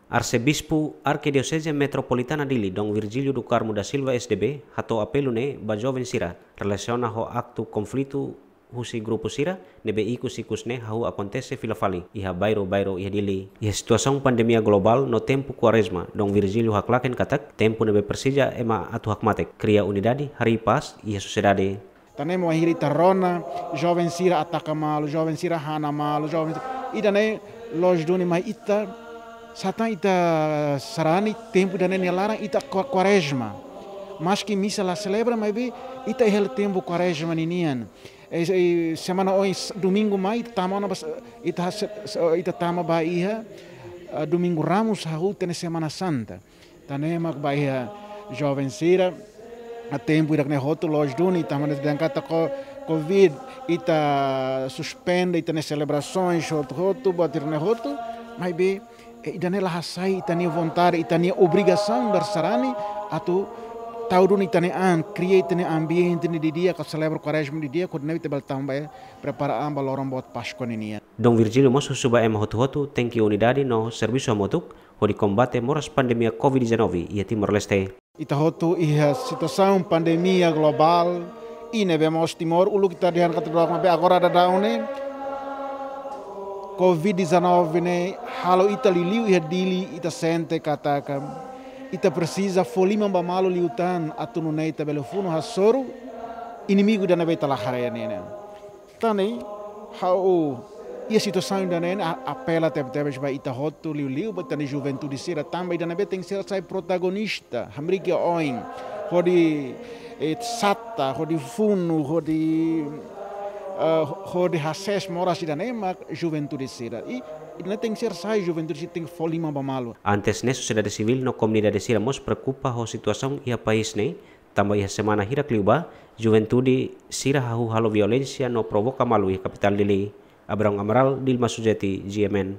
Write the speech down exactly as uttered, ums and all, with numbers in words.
Arsebispu Arkidioseze Metropolitana Dili, Dom Virgílio do Carmo da Silva, S D B, hato'o apelu ne'e ba joven sira, relasiona ho aktu konflitu husi grupu sira ne'ebé ikus-ikus ne'e hahú akontese fila fali iha bairru-bairru iha Dili. Iha situasaun pandemia globál no tempu Kuarezma, Dom Virgílio haklaken katak tempu ne'ebé presiza ema atu hakmatek, kria unidade, harii pás iha sosiedade. Tan ne'e mak bainhira ita rona, joven sira ataka malu, joven sira hana malu, joven sira, ida-ne'e loos duni, mai ita, satán ita sarani tempu ida-ne'e nia laran ita kua-, Kuarezma. Maski misa la selebra, maibé ita iha hela tempu Kuarezma ninian. E, e, semana oin, s-, domingu mai, ita tama ona bas-, ita se-, se-, ita tama ba iha, ah, Domingu Ramus, hahú ita-nia Semana Santa. Tan ne'e mak ba iha joven sira, ah, tempu ida-ne'e hotu loos duni, tanba dehan katak ko-, covid, ita suspende ita-nia selebrasoens hotu-hotu, buat ida-ne'e hotu, maibé, e, ida-ne'e la hasai ita-nia vontade, ita-nia obrigasaun dalan sarani, atu tau duni ita-nia an, kria ita-nia ambiente ne'e didi'ak, atu selebra Kuarezma didi'ak, hodi nune'e ita bele tama ba, e, prepara an ba loron boot Páskua ninian. Dom Virgílio mós husu ba ema hotu-hotu tenke unidade no servisu hamutuk, hodi kombate moras pandemia covid dezanove iha Timor-Leste. Ita hotu iha situasaun pandemia globál, i ne'ebé mós Timor, uluk ita dehan katak dook, maibé agora daudaun ne'e, covid dezanove ne'e halo ita liuliu iha Dili, ita sente katak ita presiza fó liman ba malu liután atu nune'e ita bele funu hasoru inimigu ida ne'ebé ita la haree ne'e. Tan ne'e, ha'u iha situasaun ida-ne'e, a-, apela tebetebes ba ita hotu, liuliu ba ita-nia juventude sira, tanba ida ne'ebé tenke ser sai protagonista, hamriik iha oin, hodi, e, sata, hodi funu, hodi, e, hodi hasees moras ida-ne'e mak juventude sira. I, ida-ne'e tenke ser sai juventude sira tenke fó liman ba malu. Antes ne'e sosiedade sivíl no komunidade sira mós preokupa ho situasaun iha país ne'e, tanba iha semana hirak liubá, juventude sira hahú halo violénsia no provoka malu iha kapitál Dili. Abrão Amaral, Dilma Sujeti, G M N.